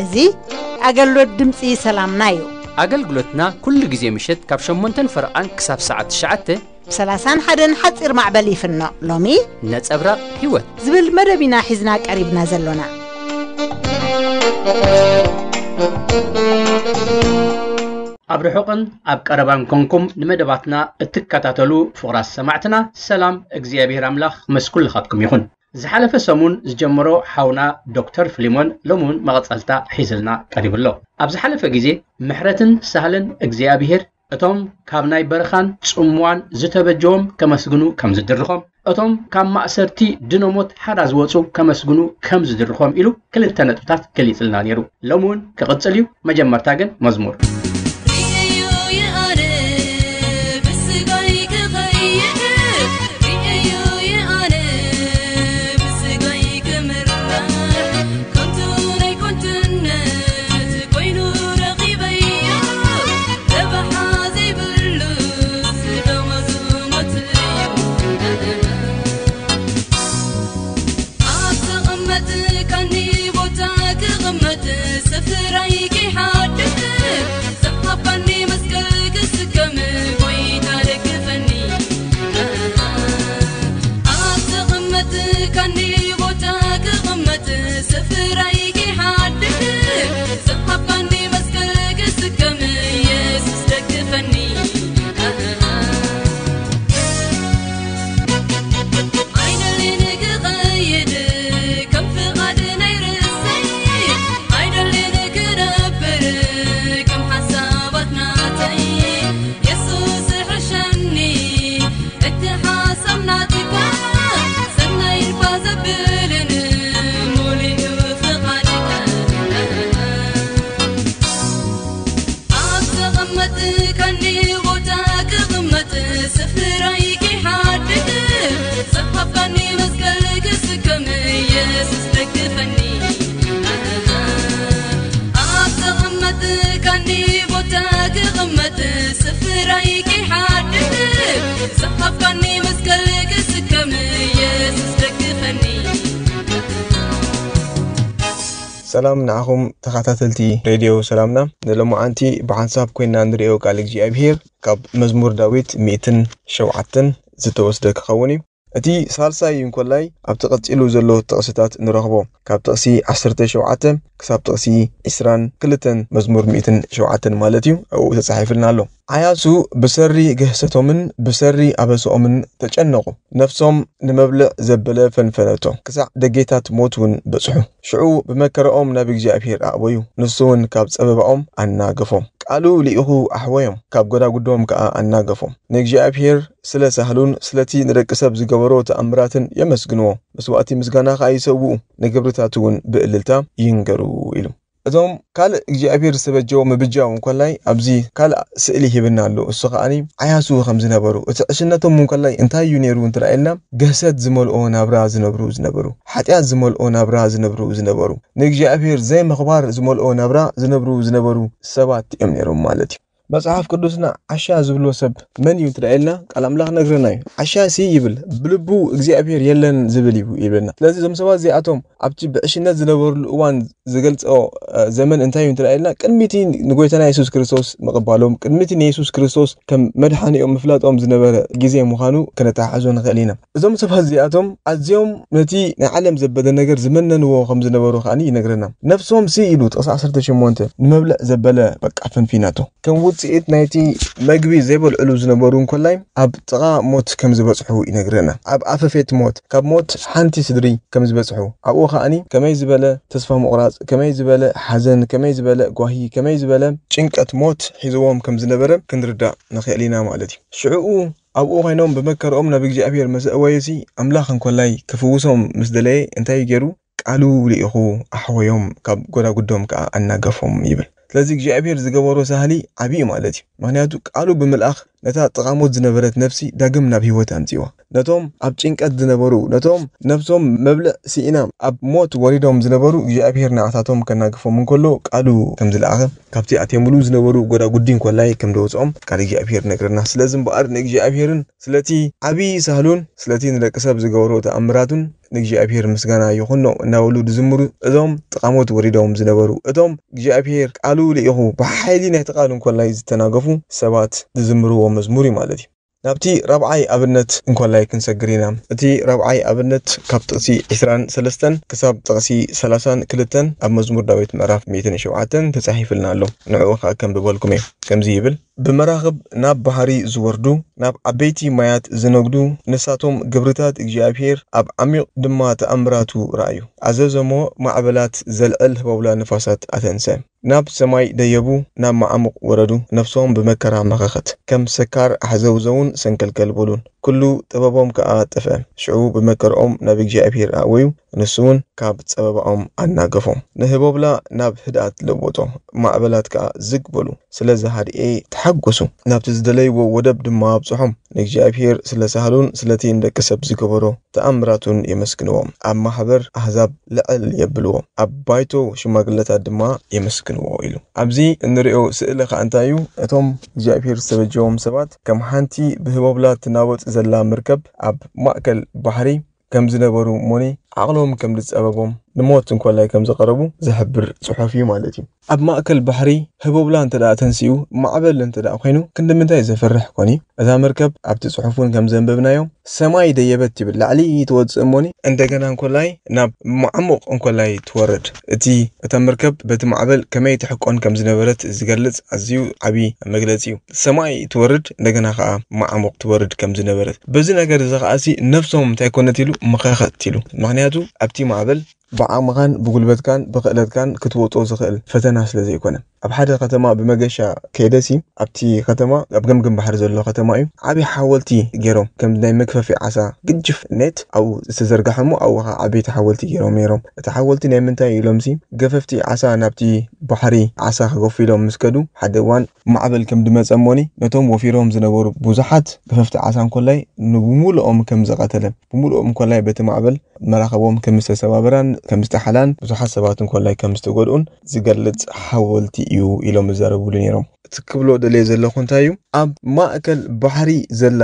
እዚ ኣገልግሎት ድምፂ ሰላምና እዩ። ኣገልግሎትና ኩሉ ግዜ ምሸት ካብ ሸሞንተን ፈረቓን ክሳብ ሰዓት ትሽዓተ ብ ሰላሳን ሓደን ሓፂር ማዕበል ይፍኖ። ሎሚ ነጸብራቕ ህይወት ዝብል መደብ ኢና ሒዝና ቀሪብና ዘሎና። ኣብ ርሑቕን ኣብ ቀረባን ኮንኩም ንመደባትና እትከታተሉ ፍቑራት ሰማዕትና፣ ሰላም እግዚኣብሔር ኣምላኽ ምስ ኩልኻትኩም ይኹን። ዝሓለፈ ሰሙን ዝጀመሮ ሓውና ዶክተር ፍሊሞን ሎሚ እውን መቐጸልታ ሒዝልና ቀሪቡ ኣሎ። ኣብ ዝሓለፈ ግዜ ምሕረትን ሳህልን እግዚኣብሔር እቶም ካብ ናይ በረኻን ጽምዋን ዝተበጀዎም ከመስግኑ ከም ዝድርኾም፣ እቶም ካብ ማእሰርቲ ድኖሞት ሓራ ዝወጹ ከመስግኑ ከም ዝድርኾም ኢሉ ክልተ ነጥብታት ገሊጽልና ነይሩ። ሎሚ እውን ክቕጽል እዩ። መጀመርታ ግን መዝሙር። ርእየዮ የኣነ ብስጋይ ክኸይድ፣ ርእየዮ የኣነ ብስጋይ ክምራሕ፣ ከንቱ ናይ ኮንትነት ኮይኑ ረኺበዮ፣ ረብሓ ዘይብሉ ደሞዙ ሞት እዩ። ኣብ ተቐመጥካኒ ቦታ ክቕመጥ፣ ስፍራይ ከይሓድግ፣ ዝሃብካኒ መስቀል ክስከም፣ ጎይታ ደግፈኒ። ኣብ ተቐመጥካኒ ቦታ ክቕመጥ፣ ስፍራይ ከይሓድግ፣ ዝሃብካኒ መስቀል ክስከም፣ የሱስ ደግፈኒ። ኣይደልን ክኸይድ ከም ፍቓድ ናይ ርእሰይ፣ ኣይደልን ክነብር ከም ሓሳባት ናተይ። የሱስ ሕሸኒ፣ እቲ ሓሳብ ናትካ ሰናይ እኳ ዘብልን ሙሉእ ፍቓድካ። ኣብ ተቐመጥካኒ ቦታ ክቕመጥ፣ ስፍራይ ከይሓድግ፣ ዝሃብካኒ መስቀል ክስከም፣ የሱስ ደግፈኒ። ኣብ ተቐመጥካኒ ቦታ ክቕመጥ፣ ስፍራይ ከይሓድግ፣ ዝሃብካኒ መስቀል ክስከም፣ የሱስ ደግፈኒ። ሰላም ንዓኹም ተኸታተልቲ ሬድዮ ሰላምና። ንሎማዓንቲ ብሓንሳብ ኮይንና ንርእዮ ቃል እግዚኣብሄር ካብ መዝሙር ዳዊት ሚእትን ሸውዓተን ዝተወስደ ክኸውን እዩ። እቲ ሳልሳይ እንኮላይ ኣብቲ ቀጺሉ ዘሎ ጥቕስታት ንረኽቦ። ካብ ጥቕሲ ዓሰርተ ሸውዓተ ክሳብ ጥቕሲ ዕስራን ክልተን መዝሙር ሚእትን ሸውዓተን ማለት እዩ፣ ኣብኡ ተጻሒፍልና ኣሎ። ዓያሱ ብሰሪ ግህሰቶምን ብሰሪ ኣበስኦምን ተጨነቑ። ነፍሶም ንመብልዕ ዘበለ ፈንፈነቶ፣ ክሳዕ ደጌታት ሞት እውን በጽሑ። ሽዑ ብመከራኦም ናብ እግዚኣብሄር ኣእበዩ፣ ንሱ እውን ካብ ጸበባኦም ኣናገፎም። ቃሉ ልኢኹ ኣሕወዮም፣ ካብ ጎዳጉዶም ከኣ ኣናገፎም። ንእግዚኣብሄር ስለ ሳህሉን ስለቲ ንደቂ ሰብ ዝገበሮ ተኣምራትን የመስግንዎ፣ መስዋእቲ ምስጋና ከኣ ይሰውኡ፣ ንግብርታቱ እውን ብእልልታ ይንገሩ ኢሉ። እዞም ካልእ እግዚኣብሄር ዝተበጀዎ ምብጃው እንኮላይ ኣብዚ ካልእ ስእሊ ሂብና ኣሎ። እሱ ከኣኒ ዓያሱ ከም ዝነበሩ፣ እቲ ዕሽነቶም እንኮላይ እንታይ እዩ ነይሩ እንተ ኢልና፣ ግህሰት ዝመልኦ ናብራ ዝነብሩ ዝነበሩ፣ ሓጢኣት ዝመልኦ ናብራ ዝነብሩ ዝነበሩ፣ ንእግዚኣብሄር ዘይምኽባር ዝመልኦ ናብራ ዝነብሩ ዝነበሩ ሰባት እዮም ነይሮም ማለት እዩ። መጽሓፍ ቅዱስና ዓሻ ዝብሎ ሰብ መን እዩ እንተ ኢልና፣ ቃል ኣምላኽ ነግረና እዩ። ዓሻ ሲ ይብል፣ ብልቡ እግዚኣብሄር የለን ዝብል እዩ ይብለና። ስለዚ እዞም ሰባት እዚኣቶም ኣብቲ ብዕሽነት ዝነበሩሉ እዋን ዝገልጾ፣ እ፣ ዘመን እንታይ እዩ እንተ ኢልና፣ ቅድሚ እቲ ንጎይታና የሱስ ክርስቶስ ምቕባሎም፣ ቅድሚ እቲ ንየሱስ ክርስቶስ ከም መድሓኒኦም ምፍላጦም ዝነበረ ግዜ ምዃኑ ከነተሓሕዞ ንኽእል ኢና። እዞም ሰባት እዚኣቶም ኣዝዮም ነቲ ናይ ዓለም ዘበለ ነገር ዝመነንዎ ከም ዝነበሩ ከኣ ይነግረና። ነፍሶም ሲ ኢሉ ጥቕሲ ዓሰርተ ሸሞንተ ንመብልዕ ዘበለ በቃ ፈንፊናቶ። ከም ውጽኢት ናይቲ መግቢ ዘይበልዕሉ ዝነበሩ እንኮላይ ኣብ ጥቓ ሞት ከም ዝበጽሑ ይነግረና። ኣብ ኣፈፌት ሞት፣ ካብ ሞት ሓንቲ ስድሪ ከም ዝበጽሑ፣ ኣብኡ ከኣኒ ከመይ ዝበለ ተስፋ ምቑራጽ፣ ከመይ ዝበለ ሓዘን፣ ከመይ ዝበለ ጓሂ፣ ከመይ ዝበለ ጭንቀት ሞት ሒዝዎም ከም ዝነበረ ክንርዳእ ንኽእል ኢና ማለት እዩ። ሽዕኡ ኣብኡ ኮይኖም ብመከርኦም ናብ እግዚኣብሔር ምስ ኣእወዩሲ፣ ኣምላኽ እንኮላይ ክፍውሶም ምስ ደለየ እንታይ ገይሩ? ቃሉ ልኢኹ ኣሕወዮም፣ ካብ ጎዳጉዶም ከኣ ኣናገፎም ይብል። ስለዚ እግዚኣብሔር ዝገበሮ ሳህሊ ዓብዪ ማለት እዩ። ምኽንያቱ ቃሉ ብምልኣኽ ነታ ጥቓሞት ዝነበረት ነፍሲ ዳግም ናብ ህይወት ኣምጺዋ። ነቶም ኣብ ጭንቀት ዝነበሩ፣ ነቶም ነፍሶም መብልዕ ስኢና ኣብ ሞት ወሪዶም ዝነበሩ እግዚኣብሔር ንዓታቶም ከናግፎም እንከሎ ቃሉ ከም ዝለኣኸ ካብቲ ኣትየምሉ ዝነበሩ ጎዳጉዲ እንኮላይ ከም ደወፅኦም ቃል እግዚኣብሔር ነግረና። ስለዚ እምበኣር ንእግዚኣብሔርን ስለቲ ዓብዪ ሳህሉን ስለቲ ንደቂ ሰብ ዝገበሮ ተኣምራቱን ንእግዚኣብሔር ምስጋና ይኹኖ እናበሉ ዝዝምሩ እዞም ጥቓሞት ወሪዶም ዝነበሩ እቶም እግዚኣብሔር ቃሉ ልኢኹ ብሓይሊ ናይቲ ቃል እንኮላይ ዝተናገፉ ሰባት ዝዝምርዎ መዝሙር እዩ ማለት እዩ። ናብቲ ራብዓይ ኣብነት እንኮላይ ክንሰግር ኢና። እቲ ራብዓይ ኣብነት ካብ ጥቕሲ ዕስራን ሰለስተን ክሳብ ጥቕሲ ሰላሳን ክልተን ኣብ መዝሙር ዳዊት ምዕራፍ ሚእትን ሸውዓተን ተጻሒፍልና ኣሎ። ንዕኡ ኸኣ ከንብበልኩም እየ። ከምዚ ይብል፣ ብመራኽብ ናብ ባሕሪ ዝወርዱ፣ ናብ ዓበይቲ ማያት ዝነግዱ፣ ንሳቶም ግብርታት እግዚኣብሔር ኣብ ዓሚቕ ድማ ተኣምራቱ ረኣዩ። ኣዘዘሞ ማዕበላት ዘልዕል ህቦብላ ንፋሳት ኣተንሰ። ናብ ሰማይ ደየቡ፣ ናብ መዓሙቕ ወረዱ፣ ነፍሶም ብመከራ መኸኸት። ከም ሰካር ኣሕዘውዘውን ሰንከልከል በሉን፣ ኩሉ ጥበቦም ከኣ ጠፍአ። ሽዑ ብመከርኦም ናብ እግዚኣብሔር ኣእወዩ፣ ንሱ እውን ካብ ጸበባኦም ኣናገፎም። ንህቦብላ ናብ ህድኣት ለወጦ፣ ማዕበላት ከኣ ዝግ በሉ። ስለዚ ሃድኤ ተሓጎሱ፣ ናብቲ ዝደለይዎ ወደብ ድማ ኣብጽሖም። ንእግዚኣብሔር ስለ ሳህሉን ስለቲ ንደቂ ሰብ ዝገበሮ ተኣምራቱን የመስግንዎ። ኣብ ማሕበር ኣህዛብ ልዕል የብልዎ፣ ኣብ ባይቶ ሽማግለታት ድማ የመስግንዎ ኢሉ። ኣብዚ እንርእዮ ስእሊ ከኣ እንታይ እዩ? እቶም እግዚኣብሔር ዝተበጀዎም ሰባት ከም ሓንቲ ብህቦብላ ትናወጽ ዘላ መርከብ ኣብ ማእከል ባሕሪ ከም ዝነበሩ እሞኒ ዓቕሎም ከም ዝጸበቦም ንሞት እንኮላይ ከም ዝቐረቡ ዝሕብር ጽሑፍ እዩ ማለት እዩ። ኣብ ማእከል ባሕሪ ህቦብላ እንተ ደኣ ተንሲኡ፣ ማዕበል እንተ ደኣ ኮይኑ፣ ክንዲ ምንታይ ዘፍርሕ ኮን እዩ? እዛ መርከብ ኣብቲ ጽሑፍ እውን ከም ዘንበብናዮ፣ ሰማይ ደየበት ትብል፣ ላዕሊ ትወጽእ እሞኒ፣ እንደገና እንኮላይ ናብ መዓሙቕ እንኮላይ ትወርድ። እቲ፣ እታ መርከብ በቲ ማዕበል ከመይ ትሕቆን ከም ዝነበረት ዝገልጽ ኣዝዩ ዓቢ መግለጺ እዩ። ሰማይ ትወርድ፣ እንደገና ከኣ መዓሙቕ ትወርድ ከም ዝነበረት። በዚ ነገር እዚ ከኣሲ ነፍሶም እንታይ ኮነት ኢሉ? መኸኸት ኢሉ። ምኽንያቱ ኣብቲ ማዕበል ብዓቕምኻን ብጉልበትካን ብኽእለትካን ክትወጾ ዝኽእል ፈተና ስለ ዘይኮነ። ኣብ ሓደ ከተማ ብመገሻ ከይደሲ፣ ኣብቲ ከተማ ኣብ ገምግም ባሕሪ ዘሎ ከተማ እዩ። ዓቢ ሓወልቲ ገይሮም፣ ከም ናይ መግፈፊ ዓሳ ግጅፍ ኔት ኣብኡ ዝተዘርግሐ እሞ ኣብኡ ኸዓ ዓበይቲ ሓወልቲ ገይሮም ነይሮም። እቲ ሓወልቲ ናይ ምንታይ እዩ ኢሎምሲ፣ ገፈፍቲ ዓሳ ናብቲ ባሕሪ ዓሳ ክገፉ ኢሎም ምስ ከዱ፣ ሓደ እዋን ማዕበል ከም ድመጸ እሞኒ፣ ነቶም ወፊሮም ዝነበሩ ብዙሓት ገፈፍቲ ዓሳ እንኮላይ ንብሙሉኦም ከም ዝቐተለ፣ ብምሉኦም እንኮላይ በቲ ማዕበል መራኸቦም ከም ዝተሰባበራን ከም ዝተሓላን ብዙሓት ሰባት እንኮላይ ከም ዝተጎድኡን ዝገልጽ ሓወልቲ እዩ ኢሎም ይዛረብሉ ነይሮም። እቲ ክብሎ ደልየ ዘለኹ እንታይ እዩ? ኣብ ማእከል ባሕሪ ዘላ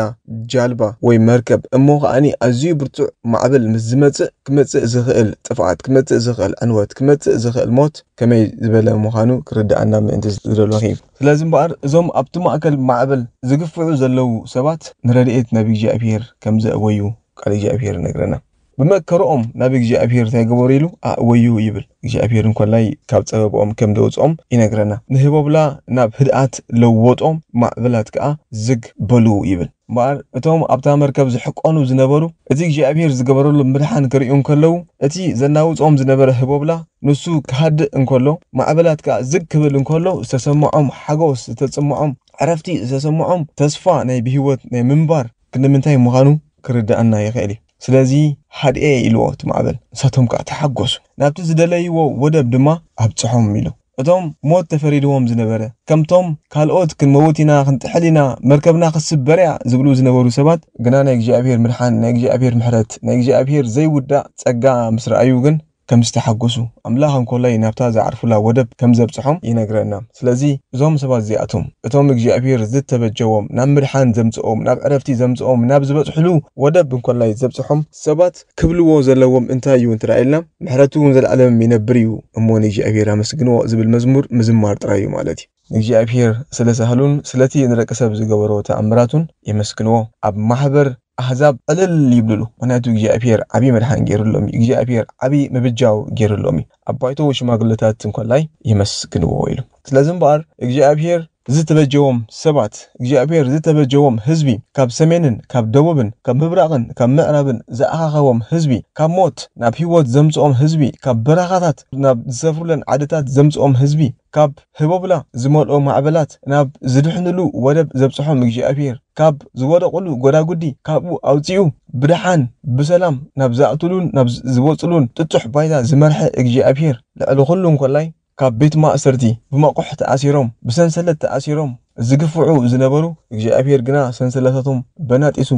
ጃልባ ወይ መርከብ እሞ ከኣኒ ኣዝዩ ብርቱዕ ማዕበል ምስ ዝመጽእ፣ ክመጽእ ዝኽእል ጥፍኣት፣ ክመጽእ ዝኽእል ዕንወት፣ ክመጽእ ዝኽእል ሞት ከመይ ዝበለ ምዃኑ ክርድኣና ምእንቲ ዝደለኹ እዩ። ስለዚ እምበኣር እዞም ኣብቲ ማእከል ማዕበል ዝግፍዑ ዘለዉ ሰባት ንረድኤት ናብ እግዚኣብሔር ከም ዘእወዩ ቃል እግዚኣብሔር ይነግረና። ብመከርኦም ናብ እግዚኣብሔር እንታይ ገበሩ ኢሉ ኣእወዩ ይብል። እግዚኣብሔር እንኮላይ ካብ ጸበብኦም ከም ደውጽኦም ይነግረና። ንህቦብላ ናብ ህድኣት ለወጦም፣ ማዕበላት ከኣ ዝግ በሉ ይብል። እምበኣር እቶም ኣብታ መርከብ ዝሕቆኑ ዝነበሩ እቲ እግዚኣብሔር ዝገበረሎም ምድሓን ክርእዩ እንከለዉ፣ እቲ ዘናውጾም ዝነበረ ህቦብላ ንሱ ክሃድእ እንከሎ፣ ማዕበላት ከኣ ዝግ ክብል እንከሎ፣ ዝተሰምዖም ሓጎስ፣ ዝተሰምዖም ዕረፍቲ፣ ዝተሰምዖም ተስፋ ናይ ብህይወት ናይ ምንባር ክንዲ ምንታይ ምዃኑ ክርድኣና ይኽእል እዩ። ስለዚ ሃድኤ ኢልዎ እቲ ማዕበል፣ ንሳቶም ከኣ ተሓጎሱ። ናብቲ ዝደለይዎ ወደብ ድማ ኣብጽሖም ኢሉ። እቶም ሞት ተፈሪድዎም ዝነበረ፣ ከምቶም ካልኦት ክንመውት ኢና፣ ክንጥሕል ኢና፣ መርከብና ክስበር እያ ዝብሉ ዝነበሩ ሰባት፣ ግና ናይ እግዚኣብሔር ምድሓን፣ ናይ እግዚኣብሔር ምሕረት፣ ናይ እግዚኣብሔር ዘይውዳእ ጸጋ ምስ ረኣዩ ግን ከም ዝተሓጎሱ፣ ኣምላኽ እንኮላይ ናብታ ዝዓርፉላ ወደብ ከም ዘብጽሖም ይነግረና። ስለዚ እዞም ሰባት እዚኣቶም፣ እቶም እግዚኣብሔር ዝተበጀዎም፣ ናብ ምድሓን ዘምጽኦም፣ ናብ ዕረፍቲ ዘምጽኦም፣ ናብ ዝበጽሕሉ ወደብ እንኮላይ ዘብጽሖም ሰባት ክብልዎ ዘለዎም እንታይ እዩ እንተ ኢልና፣ ምሕረቱ እውን ዘለዓለም ይነብር እዩ እሞ ንእግዚኣብሔር ኣመስግንዎ ዝብል መዝሙር ምዝማር ጥራይ እዩ ማለት እዩ። ንእግዚኣብሔር ስለ ሳህሉን ስለቲ ንደቂ ሰብ ዝገበሮ ተኣምራቱን የመስግንዎ። ኣብ ማሕበር ኣህዛብ ዕልል ይብልሉ። ምኽንያቱ እግዚኣብሔር ዓብዪ መድሓን ገይሩሎም እዩ። እግዚኣብሔር ዓብዪ ምብጃው ገይሩሎም እዩ። ኣብ ባይቶ ሽማግለታት እንኮላይ የመስግንዎ ኢሉ። ስለዚ እምበኣር እግዚኣብሔር ዝተበጀዎም ሰባት፣ እግዚኣብሔር ዝተበጀዎም ህዝቢ፣ ካብ ሰሜንን ካብ ደቡብን ካብ ምብራቕን ካብ ምዕራብን ዝኣኻኸቦም ህዝቢ፣ ካብ ሞት ናብ ህይወት ዘምጽኦም ህዝቢ፣ ካብ በረኻታት ናብ ዝሰፍሩለን ዓድታት ዘምጽኦም ህዝቢ፣ ካብ ህቦብላ ዝመልኦ ማዕበላት ናብ ዝድሕንሉ ወደብ ዘብጽሖም እግዚኣብሔር፣ ካብ ዝወደቕሉ ጎዳጉዲ ካብኡ ኣውጺኡ ብደሓን ብሰላም ናብ ዝኣትሉን ናብ ዝወጽሉን ጥጡሕ ባይታ ዝመርሐ እግዚኣብሔር ልዕሊ ኩሉ እንኮላይ ካብ ቤት ማእሰርቲ ብመቑሕ ተኣሲሮም፣ ብሰንሰለት ተኣሲሮም ዝግፍዑ ዝነበሩ፣ እግዚኣብሔር ግና ሰንሰለታቶም በናጢሱ፣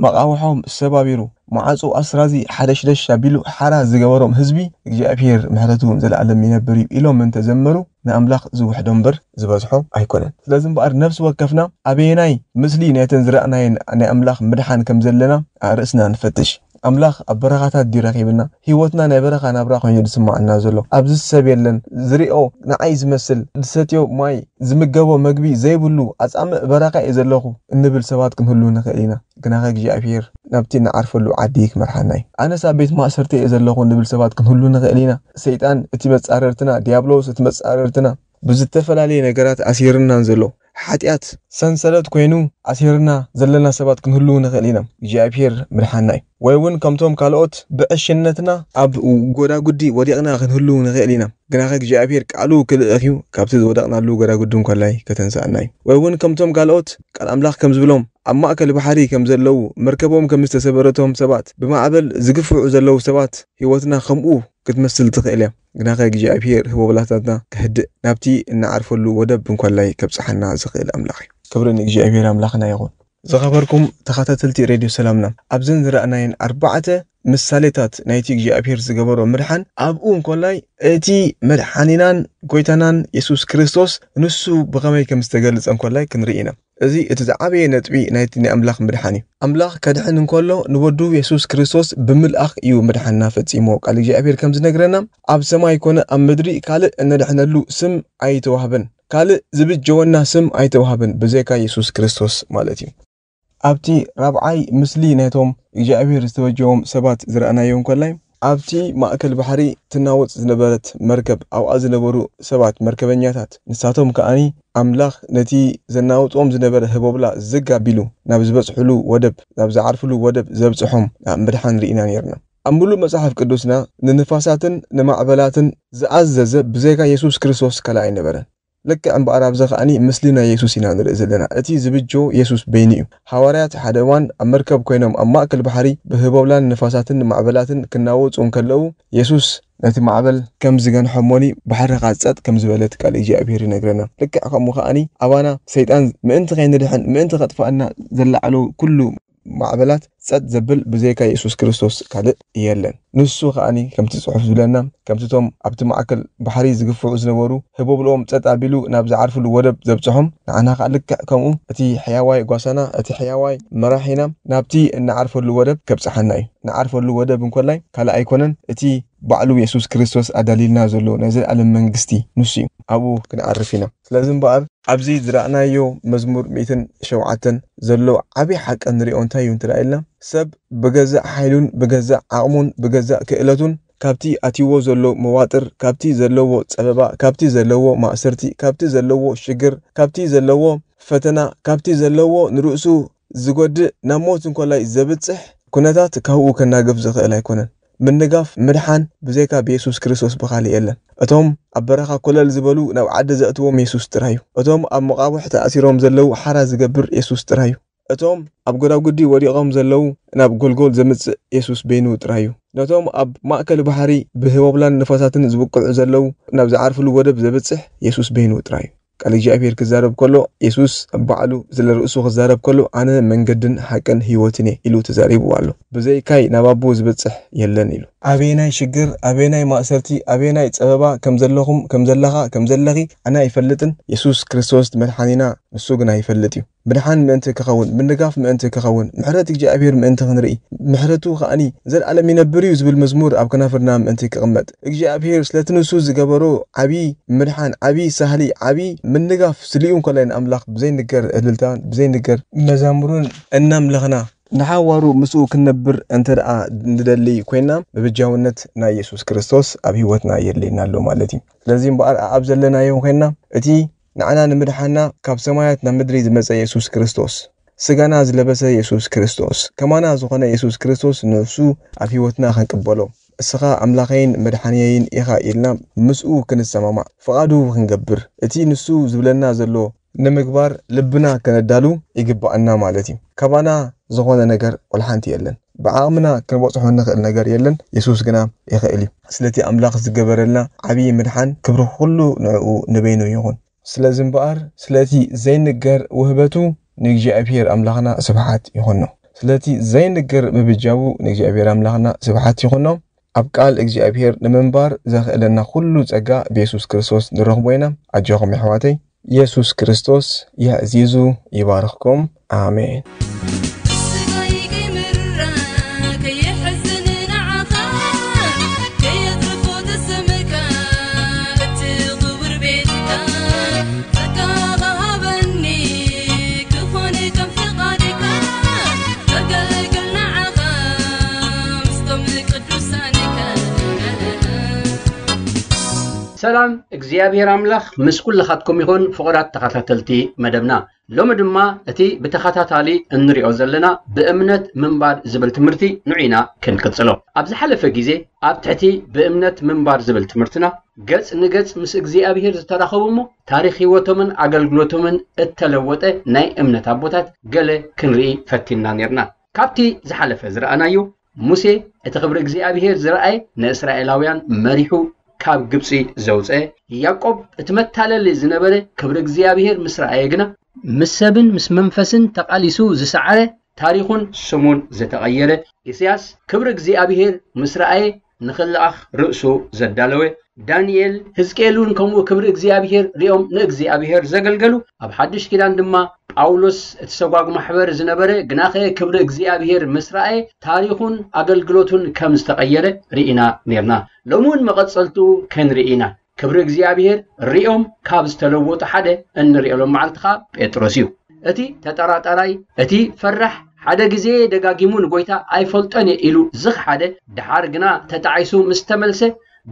መቓውሖም ሰባቢሩ፣ ማዕጾ ኣስራዚ ሓደሽደሽ ኣቢሉ ሓራ ዝገበሮም ህዝቢ፣ እግዚኣብሔር ምሕረቱ ዘለኣለም ይነብር እዩ ኢሎም እንተዘመሩ፣ ንኣምላኽ ዝውሕዶ እምበር ዝበዝሖ ኣይኮነን። ስለዚ እምበኣር ነፍሲ ወከፍና ኣበየናይ ምስሊ ናይተን ዝረኣናየን ናይ ኣምላኽ ምድሓን ከም ዘለና ኣርእስና ንፈትሽ። ኣምላኽ ኣብ በረኻታት ድዩ ረኺብና? ህይወትና ናይ በረኻ ናብራ ኮይኑ ዝስምዓና ዘሎ? ኣብዚ ሰብ የለን፣ ዝሪኦ ንዓይ ዝመስል፣ ዝሰትዮ ማይ፣ ዝምገቦ መግቢ ዘይብሉ ኣጻምእ በረኻ እየ ዘለኹ እንብል ሰባት ክንህሉ ንኽእል ኢና። ግናኸ እግዚኣብሔር ናብቲ ንዓርፈሉ ዓዲ ክመርሓና እዩ። ኣነስ ኣብ ቤት ማእሰርቲ እየ ዘለኹ እንብል ሰባት ክንህሉ ንኽእል ኢና። ሰይጣን እቲ መጻረርትና፣ ዲያብሎስ እቲ መጻረርትና፣ ብዝተፈላለየ ነገራት ኣሲርናን ዘሎ፣ ሓጢኣት ሰንሰለት ኮይኑ ኣሲርና ዘለና ሰባት ክንህልው ንኽእል ኢና። እግዚኣብሔር ምድሓና እዩ። ወይ እውን ከምቶም ካልኦት ብዕሽነትና ኣብ ጎዳጉዲ ወዲቕና ክንህልው ንኽእል ኢና። ግናኸ እግዚኣብሔር ቃሉ ክልእኽ እዩ፣ ካብቲ ዝወደቕናሉ ጎዳጉዲ እንኮላይ ከተንስኣና እዩ። ወይ እውን ከምቶም ካልኦት ቃል ኣምላኽ ከም ዝብሎም ኣብ ማእከል ባሕሪ ከም ዘለዉ፣ መርከቦም ከም ዝተሰበረቶም ሰባት፣ ብማዕበል ዝግፍዑ ዘለዉ ሰባት፣ ህይወትና ከምኡ ክትመስል ትኽእል እያ። ግናኸ እግዚኣብሔር ህቦብላታትና ከህድእ፣ ናብቲ እንዓርፈሉ ወደብ እንኮላይ ከብጽሓና ዝኽእል ኣምላኽ እዩ። ክብሪ ንእግዚኣብሔር ኣምላኽና ይኹን። ዝኸበርኩም ተኸታተልቲ ሬድዮ ሰላምና፣ ኣብዘን ዝረኣናየን ኣርባዕተ ምሳሌታት ናይቲ እግዚኣብሔር ዝገበሮ ምድሓን፣ ኣብኡ እንኮላይ እቲ መድሓኒናን ጎይታናን የሱስ ክርስቶስ ንሱ ብኸመይ ከም ዝተገልጸ እንኮላይ ክንርኢ ኢና። እዚ እቲ ዝዓበየ ነጥቢ ናይቲ ናይ ኣምላኽ ምድሓን እዩ። ኣምላኽ ከድሕን እንከሎ ንወዱ የሱስ ክርስቶስ ብምልኣኽ እዩ ምድሓንና ፈጺሞ። ቃል እግዚኣብሔር ከም ዝነግረና፣ ኣብ ሰማይ ኮነ ኣብ ምድሪ ካልእ እነድሕነሉ ስም ኣይተዋህበን፣ ካልእ ዝብጀወና ስም ኣይተዋህበን ብዘይካ የሱስ ክርስቶስ ማለት እዩ። ኣብቲ ራብዓይ ምስሊ ናይቶም እግዚኣብሔር ዝተበጀዎም ሰባት ዝረኣናዮ እንኮላይ፣ ኣብቲ ማእከል ባሕሪ ትናወጽ ዝነበረት መርከብ፣ ኣብኣ ዝነበሩ ሰባት፣ መርከበኛታት፣ ንሳቶም ከኣኒ ኣምላኽ ነቲ ዘናውጾም ዝነበረ ህቦብላ ዝግ ኣቢሉ ናብ ዝበጽሕሉ ወደብ፣ ናብ ዝዓርፍሉ ወደብ ዘብጽሖም ኣብ ምድሓን ርኢና ነይርና። ኣብ ምሉእ መጽሓፍ ቅዱስና ንንፋሳትን ንማዕበላትን ዝኣዘዘ ብዘይካ የሱስ ክርስቶስ ካልእ ኣይነበረን። ልክዕ እምበኣር ኣብዚ ከኣኒ ምስሊ ናይ የሱስ ኢና ንርኢ ዘለና። እቲ ዝብጆ የሱስ በይኑ እዩ። ሃዋርያት ሓደ እዋን ኣብ መርከብ ኮይኖም ኣብ ማእከል ባሕሪ ብህቦብላን ንፋሳትን ማዕበላትን ክናወጹ እንከለዉ፣ የሱስ ነቲ ማዕበል ከም ዝገንሖ እሞኒ ባሕሪ ከኣ ጸጥ ከም ዝበለት ቃል እግዚኣብሔር ይነግረና። ልክዕ ከምኡ ከኣኒ ኣባና ሰይጣን ምእንቲ ከይንድሕን፣ ምእንቲ ከጥፍኣና ዘለዓሎ ኩሉ ማዕበላት ጸጥ ዘብል ብዘይካ የሱስ ክርስቶስ ካልእ የለን። ንሱ ከኣኒ ከምቲ ጽሑፍ ዝብለና፣ ከምቲ እቶም ኣብቲ ማእከል ባሕሪ ዝግፍዑ ዝነበሩ ህቦብልኦም ጸጥ ኣቢሉ ናብ ዝዓርፍሉ ወደብ ዘብጽሖም፣ ንዓና ከኣ ልክዕ ከምኡ እቲ ሕያዋይ ጓሳና፣ እቲ ሕያዋይ መራሒና ናብቲ እንዓርፈሉ ወደብ ከብጽሓና እዩ። ንዓርፈሉ ወደብ እንኮላይ ካልእ ኣይኮነን፣ እቲ ባዕሉ የሱስ ክርስቶስ ኣዳልዩልና ዘሎ ናይ ዘለኣለም መንግስቲ ንሱ እዩ። ኣብኡ ክንዓርፍ ኢና። ስለዚ እምበኣር ኣብዚ ዝረኣናዮ መዝሙር ሚእትን ሸውዓተን ዘሎ ዓቢ ሓቂ ንሪኦ እንታይ እዩ እንተ ኢልና፣ ሰብ ብገዛእ ሓይሉን ብገዛእ ዓቕሙን ብገዛእ ክእለቱን ካብቲ ኣትይዎ ዘሎ መዋጥር፣ ካብቲ ዘለዎ ጸበባ፣ ካብቲ ዘለዎ ማእሰርቲ፣ ካብቲ ዘለዎ ሽግር፣ ካብቲ ዘለዎ ፈተና፣ ካብቲ ዘለዎ ንርእሱ ዝጎድእ ናብ ሞት እንኮላይ ዘብጽሕ ኩነታት ካብኡ ከናግፍ ዝኽእል ኣይኮነን። ምንጋፍ፣ ምድሓን ብዘይካ ብየሱስ ክርስቶስ ብኻልእ የለን። እቶም ኣብ በረኻ ኮለል ዝበሉ ናብ ዓዲ ዘእትዎም የሱስ ጥራይ እዩ። እቶም ኣብ መቓብሕ ተኣሲሮም ዘለዉ ሓራ ዝገብር የሱስ ጥራይ እዩ። እቶም ኣብ ጎዳጉዲ ወዲቖም ዘለዉ ናብ ጎልጎል ዘምጽእ የሱስ በይኑ ጥራይ እዩ። ነቶም ኣብ ማእከል ባሕሪ ብህቦብላን ንፋሳትን ዝብቅዑ ዘለዉ ናብ ዝዓርፍሉ ወደብ ዘብጽሕ የሱስ በይኑ ጥራይ እዩ። ቃል እግዚኣብሔር ክዛረብ ከሎ፣ የሱስ ባዕሉ ስለ ርእሱ ክዛረብ ከሎ፣ "ኣነ መንገድን ሓቅን ህይወትን እየ" ኢሉ ተዛሪቡ ኣሎ። "ብዘይካይ ናብ ኣቦ ዝበጽሕ የለን" ኢሉ። ኣበየናይ ሽግር፣ ኣበየናይ ማእሰርቲ፣ ኣበየናይ ጸበባ ከም ዘለኹም፣ ከም ዘለኻ፣ ከም ዘለኺ ኣነ ኣይፈልጥን። የሱስ ክርስቶስ መድሓኒና ንሱ ግን ኣይፈልጥ እዩ። ምድሓን ምእንቲ ክኸውን፣ ምንጋፍ ምእንቲ ክኸውን፣ ምሕረት እግዚኣብሔር ምእንቲ ክንርኢ፣ ምሕረቱ ከኣኒ ዘልኣለም ይነብር እዩ ዝብል መዝሙር ኣብ ከናፍርና ምእንቲ ክቕመጥ፣ እግዚኣብሔር ስለቲ ንሱ ዝገበሮ ዓቢ ምድሓን፣ ዓቢ ሳህሊ፣ ዓቢ ምንጋፍ ስሊኡ እንኮላይ ንኣምላኽ ብዘይንገር እልልታ፣ ብዘይንገር መዛሙርን እናምለኽና ንሓዋሩ ምስኡ ክንነብር እንተ ደኣ ንደሊ ኮይንና፣ ምብጃውነት ናይ የሱስ ክርስቶስ ኣብ ህይወትና የድልየና ኣሎ ማለት እዩ። ስለዚ እምበኣር ኣብ ዘለናዮ ኮይንና፣ እቲ ንዓና ንምድሓና ካብ ሰማያት ናብ ምድሪ ዝመጸ የሱስ ክርስቶስ፣ ስጋና ዝለበሰ የሱስ ክርስቶስ፣ ከማና ዝኾነ የሱስ ክርስቶስ ንሱ ኣብ ህይወትና ክንቅበሎ፣ "እስኻ ኣምላኸይን መድሓንየይን ኢኻ" ኢልና ምስኡ ክንሰማማዕ፣ ፍቓዱ ክንገብር፣ እቲ ንሱ ዝብለና ዘሎ ንምግባር ልብና ከነዳሉ ይግባኣና ማለት እዩ። ካባና ዝኾነ ነገር ወላ ሓንቲ የለን። ብዓቕምና ክንበጽሖ እንኽእል ነገር የለን፣ የሱስ ግና ይኽእል እዩ። ስለቲ ኣምላኽ ዝገበረልና ዓብዪ ምድሓን ክብሪ ኩሉ ንዕኡ ንበይኑ ይኹን። ስለዚ እምበኣር ስለቲ ዘይንገር ውህበቱ ንእግዚኣብሔር ኣምላኽና ስብሓት ይኹኖ። ስለቲ ዘይንገር ምብጃዉ ንእግዚኣብሔር ኣምላኽና ስብሓት ይኹኖ። ኣብ ቃል እግዚኣብሔር ንምንባር ዘኽእለና ኩሉ ጸጋ ብየሱስ ክርስቶስ ንረኽቦ ኢና። ኣጆኹም የሕዋተይ፣ የሱስ ክርስቶስ የዕዚዙ ይባርኽኩም። ኣሜን። ሰላም እግዚኣብሔር ኣምላኽ ምስ ኩልኻትኩም ይኹን። ፍቕራት ተኸታተልቲ መደብና፣ ሎሚ ድማ እቲ ብተኸታታሊ እንሪኦ ዘለና ብእምነት ምንባር ዝብል ትምህርቲ ንዑ ኢና ክንቅጽሎ። ኣብ ዝሓለፈ ግዜ ኣብ ትሕቲ ብእምነት ምንባር ዝብል ትምህርትና ገጽ ንገጽ ምስ እግዚኣብሔር ዝተራኸቡ እሞ ታሪኽ ህይወቶምን ኣገልግሎቶምን እተለወጠ ናይ እምነት ኣቦታት ገለ ክንርኢ ፈቲንና ኔርና። ካብቲ ዝሓለፈ ዝረኣናዮ፣ ሙሴ እቲ ክብሪ እግዚኣብሔር ዝረኣየ ንእስራኤላውያን መሪሑ ካብ ግብጺ ዘውፀ፣ ያዕቆብ እቲ መታለሊ ዝነበረ ክብሪ እግዚኣብሔር ምስ ረኣየ ግና ምስ ሰብን ምስ መንፈስን ተቓሊሱ ዝሰዓረ፣ ታሪኹን ስሙን ዝተቐየረ፣ ኢሳያስ ክብሪ እግዚኣብሔር ምስ ረኣየ ንኽልኣኽ ርእሱ ዘዳለወ፣ ዳንኤል፣ ህዝቅኤል እውን ከምኡ ክብሪ እግዚኣብሔር ሪኦም ንእግዚኣብሔር ዘገልገሉ፣ ኣብ ሓድሽ ኪዳን ድማ ጳውሎስ እቲ ሰጓግ ማሕበር ዝነበረ፣ ግናኸ ክብሪ እግዚኣብሔር ምስ ረኣየ ታሪኹን ኣገልግሎቱን ከም ዝተቐየረ ርኢና ኔርና። ሎሚ እውን መቐጸልትኡ ክንርኢ ኢና። ክብሪ እግዚኣብሔር ሪኦም ካብ ዝተለወጡ ሓደ እንሪኦ ሎም መዓልቲ ኸኣ ጴጥሮስ እዩ። እቲ ተጠራጣራይ፣ እቲ ፈራሕ፣ ሓደ ግዜ ደጋጊሙ ንጎይታ ኣይፈልጦን እየ ኢሉ ዝኽሓደ፣ ደሓር ግና ተጣዒሱ ምስ ተመልሰ፣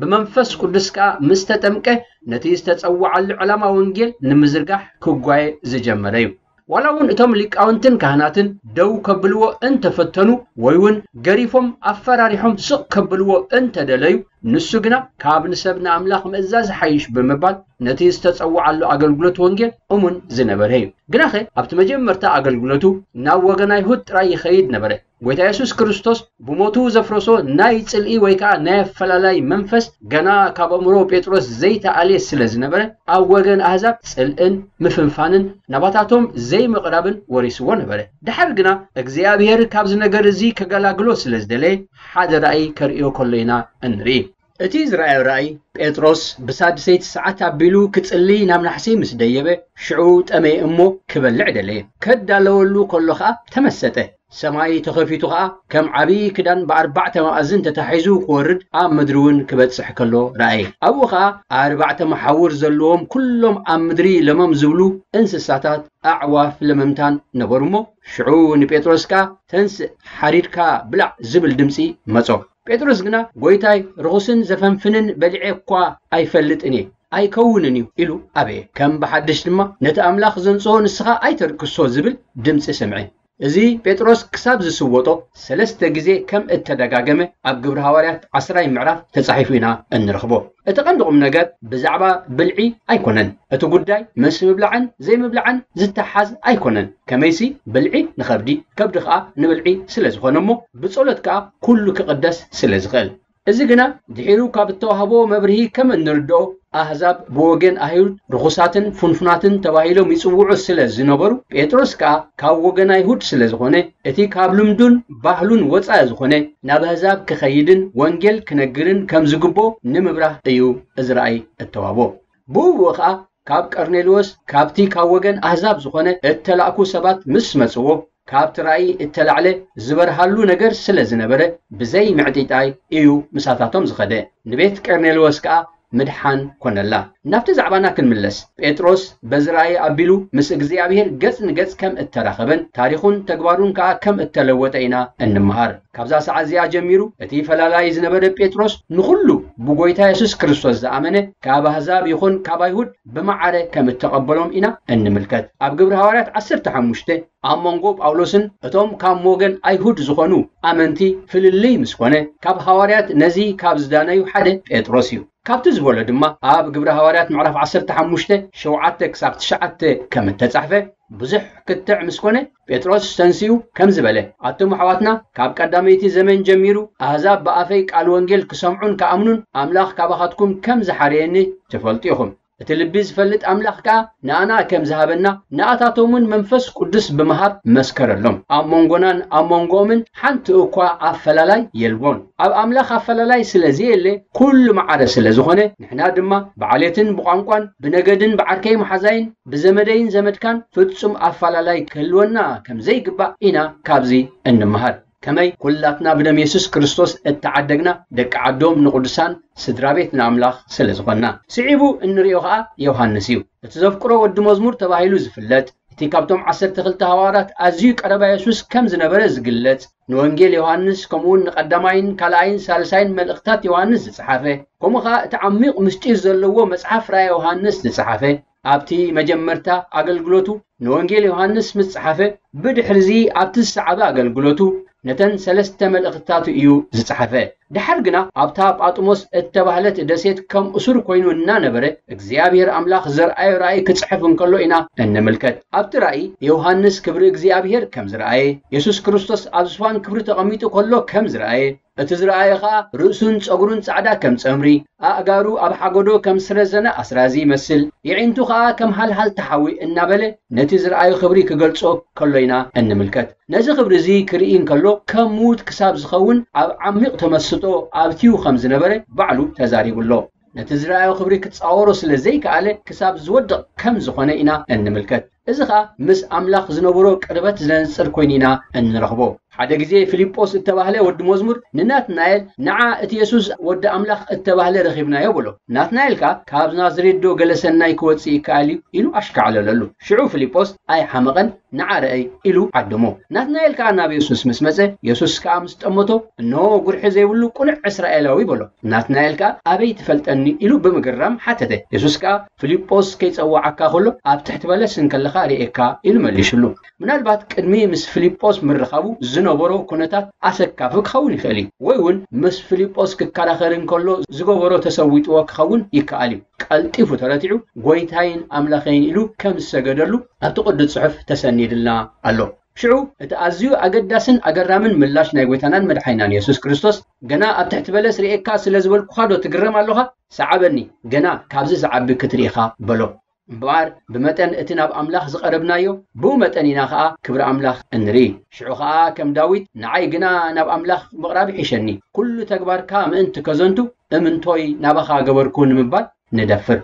ብመንፈስ ቅዱስ ከኣ ምስ ተጠምቀ፣ ነቲ ዝተጸውዓሉ ዕላማ ወንጌል ንምዝርጋሕ ክጓየ ዝጀመረ እዩ። ዋላ እውን እቶም ሊቃውንትን ካህናትን ደው ከብልዎ እንተፈተኑ፣ ወይ እውን ገሪፎም ኣፈራሪሖም ስቕ ከብልዎ እንተደለዩ፣ ንሱ ግና ካብ ንሰብ ንኣምላኽ ምእዛዝ ሓይሽ ብምባል፣ ነቲ ዝተጸውዓሉ ኣገልግሎት ወንጌል እሙን ዝነበረ እዩ። ግናኸ ኣብቲ መጀመርታ ኣገልግሎቱ ናብ ወገን ኣይሁድ ጥራይ ይኸይድ ነበረ። ጎይታ የሱስ ክርስቶስ ብሞቱ ዘፍረሶ ናይ ጽልኢ ወይ ከኣ ናይ ኣፈላላይ መንፈስ ገና ካብ ኣእምሮ ጴጥሮስ ዘይተኣልየ ስለ ዝነበረ፣ ኣብ ወገን ኣህዛብ ጽልእን ምፍንፋንን ናባታቶም ዘይምቕራብን ወሪስዎ ነበረ። ደሓር ግና እግዚኣብሔር ካብዚ ነገር እዚ ከገላግሎ ስለ ዝደለየ፣ ሓደ ራእይ ከርእዮ ከሎ ኢና እንርኢ። እቲ ዝረኣዮ ራእይ፣ ጴጥሮስ ብሳድሰይቲ ሰዓት ኣቢሉ ክጽሊ ናብ ናሕሲ ምስ ደየበ፣ ሽዑ ጠመየ እሞ ክበልዕ ደለየ። ከዳለወሉ ከሎ ኸኣ ተመሰጠ። ሰማይ ተኸፊቱ ኸኣ ከም ዓብዪ ክዳን ብኣርባዕተ መኣዝን ተታሒዙ ክወርድ፣ ኣብ ምድሪ እውን ክበጽሕ ከሎ ረኣየ። ኣብኡ ኸኣ ኣርባዕተ መሓውር ዘለዎም ኩሎም ኣብ ምድሪ ለመም ዝብሉ እንስሳታት፣ ኣዕዋፍ ለመምታን ነበሩ እሞ፣ ሽዑ ንጴጥሮስ ከኣ፣ "ተንስእ፣ ሓሪድካ ብላዕ" ዝብል ድምጺ መጾ። ጴጥሮስ ግና፣ "ጐይታይ፣ ርኹስን ዘፈንፍንን በሊዐ እኳ ኣይፈልጥን እየ፣ ኣይከውንን እዩ" ኢሉ ኣበየ። ከም ብሓድሽ ድማ፣ "ነቲ ኣምላኽ ዘንጽሆ ንስኻ ኣይተርክሶ" ዝብል ድምጺ ሰምዐ። እዚ ጴጥሮስ ክሳብ ዝስወጦ ሰለስተ ግዜ ከም እተደጋገመ ኣብ ግብሪ ሃዋርያት ዓስራይ ምዕራፍ ተጻሒፉ ኢና እንረኽቦ። እቲ ቀንዲ ቁም ነገር ብዛዕባ ብልዒ ኣይኮነን። እቲ ጉዳይ ምስ ምብላዕን ዘይምብላዕን ዝተሓዝ ኣይኮነን። ከመይሲ ብልዒ ንኸብዲ፣ ከብዲ ከኣ ንብልዒ ስለ ዝኾነ እሞ ብጸሎት ከኣ ኩሉ ክቕደስ ስለ ዝኽእል። እዚ ግና ድሒሩ ካብ እተዋህቦ መብርሂ ከም እንርድኦ፣ ኣህዛብ ብወገን ኣይሁድ ርኹሳትን ፍንፉናትን ተባሂሎም ይጽውዑ ስለ ዝነበሩ፣ ጴጥሮስ ከኣ ካብ ወገን ኣይሁድ ስለ ዝኾነ፣ እቲ ካብ ልምዱን ባህሉን ወጻኢ ዝኾነ ናብ ኣህዛብ ክኸይድን ወንጌል ክነግርን ከም ዝግብኦ ንምብራህ እዩ እዚ ራእይ እተዋህቦ። ብኡ ብኡ ኸኣ ካብ ቀርኔልዎስ፣ ካብቲ ካብ ወገን ኣህዛብ ዝኾነ እተላእኩ ሰባት ምስ መጽዎ፣ ካብቲ ራእይ እተላዕለ ዝበርሃሉ ነገር ስለ ዝነበረ፣ ብዘይ ምዕጢጣይ እዩ ምሳታቶም ዝኸደ። ንቤት ቀርኔልዎስ ከኣ ምድሓን ኮነላ። ናብቲ ዛዕባና ክንምለስ፣ ጴጥሮስ በዚ ራእይ ኣቢሉ ምስ እግዚኣብሔር ገጽ ንገጽ ከም እተራኸበን ታሪኹን ተግባሩን ከኣ ከም እተለወጠ ኢና እንምሃር። ካብዛ ሰዓት እዚኣ ጀሚሩ፣ እቲ ፈላላይ ዝነበረ ጴጥሮስ ንኹሉ ብጎይታ የሱስ ክርስቶስ ዝኣመነ፣ ካብ ኣህዛብ ይኹን ካብ ኣይሁድ ብመዓረ ከም እተቐበሎም ኢና እንምልከት። ኣብ ግብሪ ሃዋርያት ዓሰርተ ሓሙሽተ፣ ኣብ መንጎ ጳውሎስን እቶም ካብ ወገን ኣይሁድ ዝኾኑ ኣመንቲ ፍልልይ ምስ ኮነ፣ ካብ ሃዋርያት ነዚ ካብ ዝዳነዩ ሓደ ጴጥሮስ እዩ። ካብቲ ዝበሎ ድማ ኣብ ግብረ ሃዋርያት ምዕራፍ ዓሰርተ ሓሙሽተ ሸውዓተ ክሳብ ትሽዓተ ከም እተጻሕፈ፣ ብዙሕ ክትዕ ምስ ኮነ፣ ጴጥሮስ ተንሲኡ ከምዚ በለ፣ ኣቱም ኣሕዋትና፣ ካብ ቀዳመይቲ ዘመን ጀሚሩ ኣህዛብ ብኣፈይ ቃል ወንጌል ክሰምዑን ክኣምኑን ኣምላኽ ካባኻትኩም ከም ዝሓረየኒ ትፈልጡ ኢኹም። እቲ ልቢ ዝፈልጥ ኣምላኽ ከኣ ንኣና ከም ዝሃበና፣ ንኣታቶም እውን መንፈስ ቅዱስ ብምሃብ መስከረሎም። ኣብ መንጎናን ኣብ መንጎኦምን ሓንቲ እኳ ኣፈላላይ የልቦን። ኣብ ኣምላኽ ኣፈላላይ ስለ ዘየለ፣ ኩሉ ማዕረ ስለ ዝኾነ፣ ንሕና ድማ ብዓሌትን ብቋንቋን ብነገድን ብዓርከይ መሓዛይን ብዘመደይን ዘመድካን ፍጹም ኣፈላላይ ክህልወና ከም ዘይግባእ ኢና ካብዚ እንምሃር። ከመይ ኩላትና ብደም የሱስ ክርስቶስ እተዓደግና ደቂ ዓዶም ንቕዱሳን ስድራ ቤት ንኣምላኽ ስለ ዝኾንና። ስዒቡ እንርእዮ ኸኣ ዮሃንስ እዩ። እቲ ዘፍቅሮ ወዲ መዝሙር ተባሂሉ ዝፍለጥ፣ እቲ ካብቶም ዓሰርተ ክልተ ሃዋርያት ኣዝዩ ቀረባ የሱስ ከም ዝነበረ ዝግለጽ፣ ንወንጌል ዮሃንስ ከምኡውን ንቐዳማይን ካልኣይን ሳልሳይን መልእኽታት ዮሃንስ ዝጸሓፈ፣ ከምኡ ኸኣ እቲ ዓሚቕ ምስጢር ዘለዎ መጽሓፍ ራእየ ዮሃንስ ዝጸሓፈ፣ ኣብቲ መጀመርታ ኣገልግሎቱ ንወንጌል ዮሃንስ ምስ ጸሓፈ፣ ብድሕርዚ ኣብቲ ዝሰዓበ ኣገልግሎቱ ነተን ሰለስተ መልእኽትታቱ እዩ ዝጸሓፈ። ደሓር ግና ኣብታ ጳጥሞስ እተባህለት ደሴት ከም እሱር ኮይኑ እናነበረ እግዚኣብሔር ኣምላኽ ዘርኣዮ ራእይ ክጽሕፍ እንከሎ ኢና እንምልከት። ኣብቲ ራእይ ዮሃንስ ክብሪ እግዚኣብሔር ከም ዝረኣየ፣ የሱስ ክርስቶስ ኣብ ዝፋን ክብሪ ተቐሚጡ ከሎ ከም ዝረኣየ፣ እቲ ዝረኣየ ኸኣ ርእሱን ጸጉሩን ጻዕዳ ከም ጸምሪ፣ ኣእጋሩ ኣብ ሓጎዶ ከም ስረዘነ ኣስራዚ ይመስል፣ የዒንቱ ኸኣ ከም ሃልሃልቲ ሓዊ እናበለ ነቲ ዝረኣዮ ክብሪ ክገልጾ ከሎ ኢና እንምልከት። ነዚ ክብሪ እዚ ክርኢ እንከሎ ከም ምዉት ክሳብ ዝኸውን ኣብ ዓሚቕ ተመስጦ ኣብትዩ ከም ዝነበረ ባዕሉ ተዛሪቡ ኣሎ። ነቲ ዝረኣዮ ክብሪ ክጻወሮ ስለ ዘይከኣለ ክሳብ ዝወድቕ ከም ዝኾነ ኢና እንምልከት። እዚ ኸኣ ምስ ኣምላኽ ዝነበሮ ቅርበት ዘንጽር ኮይኑ ኢና እንረኽቦ። ሓደ ግዜ ፊልጶስ እተባህለ ወዲ መዝሙር ንናትናኤል፣ "ንዓ እቲ የሱስ ወዲ ኣምላኽ እተባህለ ረኺብናዮ" በሎ። ናትናኤል ከኣ፣ "ካብ ናዝሬት ዶ ገለ ሰናይ ክወጽእ ይከኣል እዩ?" ኢሉ ኣሽካዕለለሉ። ሽዑ ፊልጶስ ኣይሓመቐን፣ "ንዓ ርኣይ" ኢሉ ዓደሞ። ናትናኤል ከኣ ናብ የሱስ ምስ መጸ፣ የሱስ ከኣ ምስ ጠመቶ፣ "እንሆ ጉርሒ ዘይብሉ ቅኑዕ እስራኤላዊ" በሎ። ናትናኤል ከኣ፣ "ኣበይ ትፈልጠኒ?" ኢሉ ብምግራም ሓተተ። የሱስ ከኣ፣ "ፊልጶስ ከይጸውዓካ ከሎ ኣብ ትሕቲ በለስ እንከለኻ ርእየካ" ኢሉ መሊሱሉ። ምናልባት ቅድሚ ምስ ፊልጶስ ምርኻቡ ዝነበሮ ኩነታት ኣሰካፊ ክኸውን ይኽእል እዩ። ወይ እውን ምስ ፊልጶስ ክከራኸር እንከሎ ዝገበሮ ተሰዊጥዎ ክኸውን ይከኣል እዩ። ቀልጢፉ ተረቲዑ፣ "ጐይታይን ኣምላኸይን" ኢሉ ከም ዝሰገደሉ ኣብቲ ቅዱስ ጽሑፍ ተሰኒድልና ኣሎ። ሽዑ እቲ ኣዝዩ ኣገዳስን ኣገራምን ምላሽ ናይ ጐይታናን መድሓኒናን የሱስ ክርስቶስ፣ "ገና ኣብ ትሕቲ በለስ ርእየካ ስለ ዝበልኩኻ ዶ ትግረም ኣሎኻ? ሰዓበኒ፣ ገና ካብዚ ዝዓቢ ክትርኢ ኢኻ" በሎ። እምበኣር ብመጠን እቲ ናብ ኣምላኽ ዝቐረብናዮ፣ ብኡ መጠን ኢና ኸኣ ክብሪ ኣምላኽ እንርኢ። ሽዑ ኸኣ ከም ዳዊት፣ "ንዓይ ግና ናብ ኣምላኽ ምቕራብ ይሕሸኒ፣ ኩሉ ተግባርካ ምእንቲ ከዘንቱ፣ እምንቶይ ናባኻ ገበርኩ" ንምባል ንደፍር።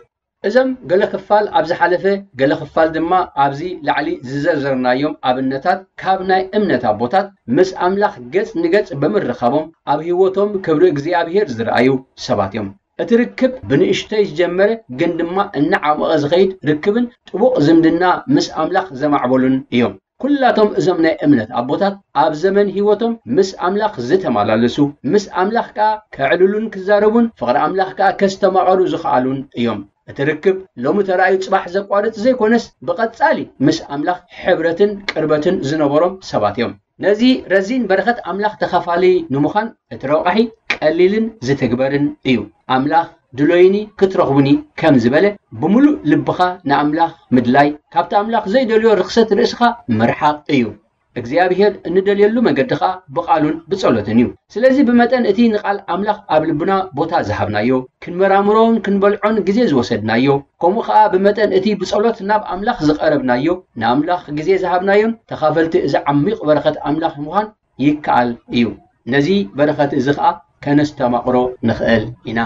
እዞም ገለ ክፋል ኣብ ዝሓለፈ፣ ገለ ክፋል ድማ ኣብዚ ላዕሊ ዝዘርዘርናዮም ኣብነታት ካብ ናይ እምነት ኣቦታት ምስ ኣምላኽ ገጽ ንገጽ ብምርኻቦም ኣብ ህይወቶም ክብሪ እግዚኣብሔር ዝረኣዩ ሰባት እዮም። እቲ ርክብ ብንእሽተይ ዝጀመረ ግን ድማ እናዓመቐ ዝኸይድ ርክብን ጥቡቕ ዝምድና ምስ ኣምላኽ ዘማዕበሉን እዮም። ኩላቶም እዞም ናይ እምነት ኣቦታት ኣብ ዘመን ህይወቶም ምስ ኣምላኽ ዝተመላለሱ፣ ምስ ኣምላኽ ከኣ ከዕልሉን ክዛረቡን፣ ፍቕሪ ኣምላኽ ከኣ ከስተማቐሩ ዝኸኣሉን እዮም። እቲ ርክብ ሎሚ ተራእዩ ጽባሕ ዘቋርጽ ዘይኮነስ፣ ብቐጻሊ ምስ ኣምላኽ ሕብረትን ቅርበትን ዝነበሮም ሰባት እዮም። ነዚ ረዚን በረኸት ኣምላኽ ተኻፋሊ ንምዃን እቲ ረቋሒ ቀሊልን ዝትግበርን እዩ። ኣምላኽ ድሎይኒ ክትረኽቡኒ ከም ዝበለ፣ ብምሉእ ልብኻ ንኣምላኽ ምድላይ፣ ካብቲ ኣምላኽ ዘይደልዮ ርኽሰት ርእስኻ ምርሓቕ እዩ። እግዚኣብሔር እንደልየሉ መገዲ ኸኣ ብቓሉን ብጸሎትን እዩ። ስለዚ ብመጠን እቲ ንቓል ኣምላኽ ኣብ ልብና ቦታ ዝሃብናዮ፣ ክንመራምሮን ክንበልዖን ግዜ ዝወሰድናዮ፣ ከምኡ ኸኣ ብመጠን እቲ ብጸሎት ናብ ኣምላኽ ዝቐረብናዮ፣ ንኣምላኽ ግዜ ዝሃብናዮን ተኻፈልቲ እዚ ዓሚቕ በረኸት ኣምላኽ ምዃን ይከኣል እዩ። ነዚ በረኸት እዚ ኸኣ ከነስተማቕሮ ንኽእል ኢና።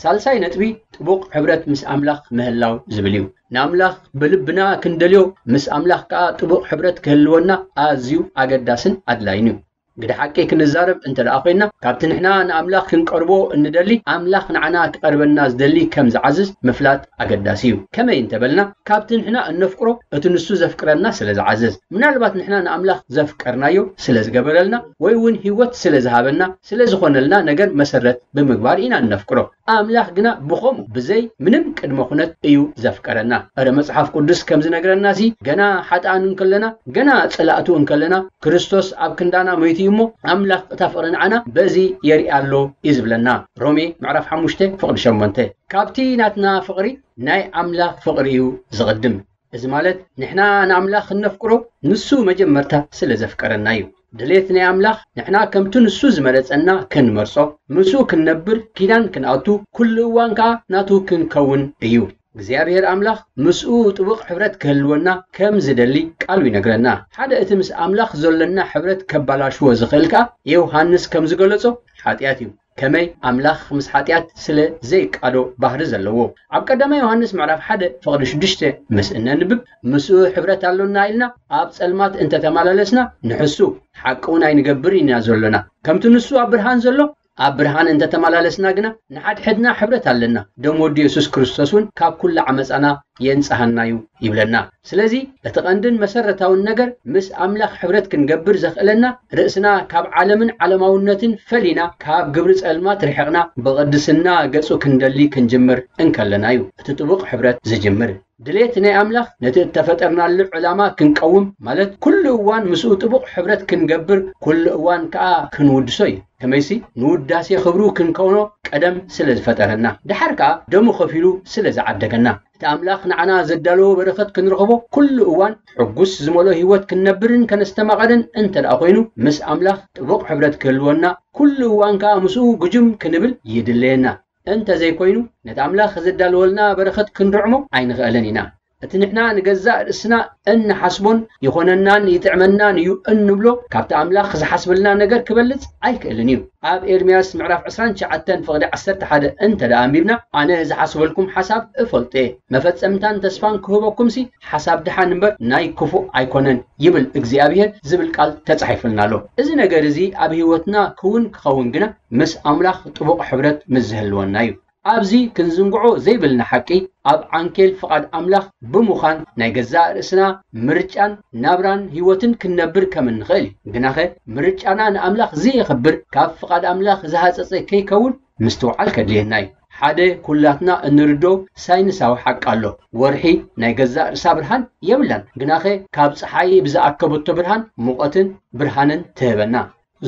ሳልሳይ ነጥቢ ጥቡቕ ሕብረት ምስ ኣምላኽ ምህላው ዝብል እዩ። ንኣምላኽ ብልብና ክንደልዮ፣ ምስ ኣምላኽ ከኣ ጥቡቕ ሕብረት ክህልወና ኣዝዩ ኣገዳስን ኣድላይን እዩ። ግደ ሓቂ ክንዛረብ እንተ ደኣ ኮይንና፣ ካብቲ ንሕና ንኣምላኽ ክንቀርቦ እንደሊ፣ ኣምላኽ ንዓና ክቐርበና ዝደሊ ከም ዝዓዝዝ ምፍላጥ ኣገዳሲ እዩ። ከመይ እንተ በልና፣ ካብቲ ንሕና እነፍቅሮ እቲ ንሱ ዘፍቅረና ስለ ዝዓዝዝ። ምናልባት ንሕና ንኣምላኽ ዘፍቀርናዮ ስለ ዝገበረልና፣ ወይ እውን ህይወት ስለ ዝሃበና፣ ስለ ዝኾነልና ነገር መሰረት ብምግባር ኢና እነፍቅሮ። ኣምላኽ ግና ብኸምኡ ብዘይ ምንም ቅድመ ኩነት እዩ ዘፍቀረና። እረ መጽሓፍ ቅዱስ ከም ዝነግረናሲ፣ ገና ሓጥኣን እንከለና፣ ገና ጸላእቱ እንከለና፣ ክርስቶስ ኣብ ክንዳና ሞይቱ እዩ እሞ፣ ኣምላኽ እታ ፍቕሪ ንዓና በዚ የርኢ ኣሎ እዩ ዝብለና። ሮሜ ምዕራፍ ሓሙሽተ ፍቕዲ ሸሞንተ። ካብቲ ናትና ፍቕሪ ናይ ኣምላኽ ፍቕሪ እዩ ዝቕድም። እዚ ማለት ንሕና ንኣምላኽ እነፍቅሮ ንሱ መጀመርታ ስለ ዘፍቀረና እዩ። ድሌት ናይ ኣምላኽ ንሕና ከምቲ ንሱ ዝመረጸና ክንመርጾ፣ ምስኡ ክንነብር፣ ኪዳን ክንኣቱ፣ ኩሉ እዋን ከኣ ናቱ ክንከውን እዩ። እግዚኣብሔር ኣምላኽ ምስኡ ጥቡቕ ሕብረት ክህልወና ከም ዝደሊ ቃሉ ይነግረና። ሓደ እቲ ምስ ኣምላኽ ዘሎና ሕብረት ከባላሽዎ ዝኽእል ከኣ ዮሃንስ ከም ዝገለጾ ሓጢኣት እዩ። ከመይ ኣምላኽ ምስ ሓጢኣት ስለ ዘይቃዶ ባህሪ ዘለዎ። ኣብ ቀዳማይ ዮሃንስ ምዕራፍ ሓደ ፍቕዲ ሽዱሽተ ምስ እነንብብ፣ ምስኡ ሕብረት ኣሎና ኢልና ኣብ ጸልማት እንተተመላለስና ንሕሱ ሓቂ እውን ኣይንገብር ኢና ዘሎና። ከምቲ ንሱ ኣብ ብርሃን ዘሎ ኣብ ብርሃን እንተተመላለስና ግና ንሓድሕድና ሕብረት ኣለና። ደም ወዲ የሱስ ክርስቶስ እውን ካብ ኩሉ ዓመጻና የንጽሃና እዩ ይብለና። ስለዚ እቲ ቀንድን መሰረታውን ነገር ምስ ኣምላኽ ሕብረት ክንገብር ዘኽእለና ርእስና ካብ ዓለምን ዓለማውነትን ፈሊና ካብ ግብሪ ጸልማት ርሒቕና ብቕድስና ገጹ ክንደሊ ክንጅምር እንከለና እዩ እቲ ጥቡቕ ሕብረት ዝጅምር። ድሌት ናይ ኣምላኽ ነቲ እተፈጠርናሉ ዕላማ ክንቀውም ማለት ኩሉ እዋን ምስኡ ጥቡቕ ሕብረት ክንገብር ኩሉ እዋን ከኣ ክንውድሶ እዩ። ከመይሲ ንውዳሴ ክብሩ ክንከውኖ ቀደም ስለ ዝፈጠረና፣ ደሓር ከኣ ደሙ ከፊሉ ስለ ዝዓደገና፣ እቲ ኣምላኽ ንዓና ዘዳለዎ በረኸት ክንረኽቦ ኩሉ እዋን ሕጉስ ዝመልኦ ህይወት ክንነብርን ከነስተማቐርን እንተ ደኣ ኮይኑ፣ ምስ ኣምላኽ ጥቡቕ ሕብረት ክህልወና፣ ኩሉ እዋን ከኣ ምስኡ ግጁም ክንብል ይድለየና። እንተ ዘይኮይኑ፣ ነቲ ኣምላኽ ዘዳለወልና በረኸት ክንርዕሞ ኣይንኽእልን ኢና። እቲ ንሕና ንገዛእ ርእስና እንሓስቦን ይኾነናን ይጥዕመናን እዩ እንብሎ፣ ካብቲ ኣምላኽ ዝሓስበልና ነገር ክበልጽ ኣይክእልን እዩ። ኣብ ኤርምያስ ምዕራፍ ዕስራን ትሽዓተን ፍቕዲ ዓሰርተ ሓደ እንተ ደኣ ኣንቢብና፣ ኣነ ዝሓስበልኩም ሓሳብ እፈልጦ እየ፣ መፈጸምታን ተስፋን ክህበኩምሲ ሓሳብ ደሓን እምበር ናይ ክፉእ ኣይኮነን ይብል እግዚኣብሔር ዝብል ቃል ተጻሒፉልና ኣሎ። እዚ ነገር እዚ ኣብ ህይወትና ክውን ክኸውን ግና ምስ ኣምላኽ ጥቡቕ ሕብረት ምስ ዝህልወና እዩ። ኣብዚ ክንዝንግዖ ዘይብልና ሓቂ፣ ኣብ ዓንኬል ፍቓድ ኣምላኽ ብምዃን ናይ ገዛእ ርእስና ምርጫን ናብራን ህይወትን ክንነብር ከም እንኽእል እዩ። ግናኸ ምርጫና ንኣምላኽ ዘየኽብር፣ ካብ ፍቓድ ኣምላኽ ዝሃጸጸ ከይከውን ምስትውዓል ከድልየና እዩ። ሓደ ኩላትና እንርዶ ሳይንሳዊ ሓቂ ኣሎ። ወርሒ ናይ ገዛእ ርእሳ ብርሃን የብላን። ግናኸ ካብ ጸሓይ ብዝኣከበቶ ብርሃን ሙቐትን ብርሃንን ትህበና።